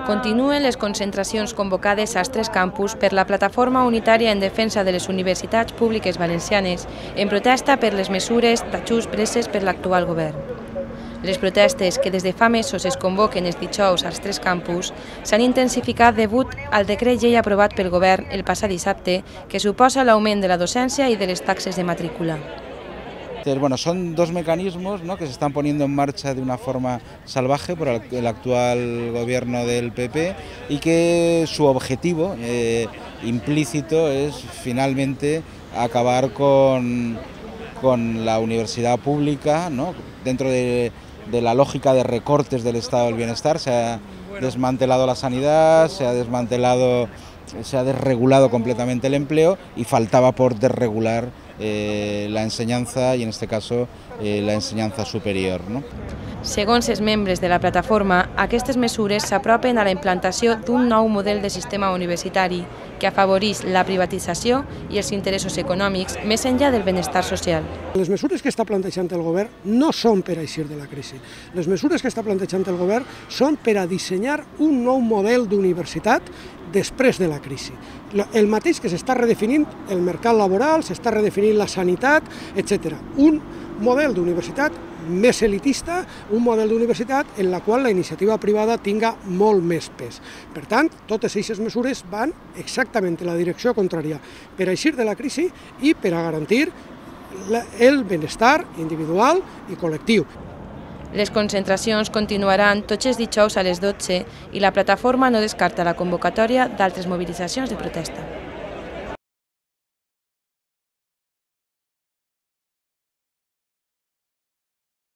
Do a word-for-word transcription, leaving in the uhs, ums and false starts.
Continuen les concentracions convocades als tres campus per la Plataforma Unitària en Defensa de les Universitats Públiques Valencianes en protesta per les mesures d'ajust preses per l'actual govern. Les protestes, que des de fa mesos es convoquen els dijous als tres campus, s'han intensificat degut al decret llei aprovat pel govern el passat dissabte, que suposa l'augment de la docència y de les taxes de matrícula. Entonces, bueno, son dos mecanismos, ¿no?, que se están poniendo en marcha de una forma salvaje por el actual gobierno del P P y que su objetivo eh, implícito es finalmente acabar con, con la universidad pública, ¿no?, dentro de, de la lógica de recortes del estado del bienestar. Se ha desmantelado la sanidad, se ha desmantelado, se ha desregulado completamente el empleo y faltaba por desregular Eh, la ensenyança i en aquest cas eh, la ensenyança superior, no? Segons els membres de la plataforma, aquestes mesures s'apropen a la implantació d'un nou model de sistema universitari que afavoreix la privatització i els interessos econòmics més enllà del benestar social. Les mesures que està plantejant el govern no són per a eixir de la crisi. Les mesures que està plantejant el govern són per a dissenyar un nou model d'universitat després de la crisi. El mateix que s'està redefinint el mercat laboral, s'està redefinint la sanitat, etcètera. Un model d'universitat més elitista, un model d'universitat en la qual la iniciativa privada tinga molt més pes. Per tant, totes aquestes mesures van exactament en la direcció contrària, per a eixir de la crisi i per a garantir el benestar individual i col·lectiu. Les concentracions continuaran tots els dijous a les dotze i la plataforma no descarta la convocatòria d'altres mobilitzacions de protesta.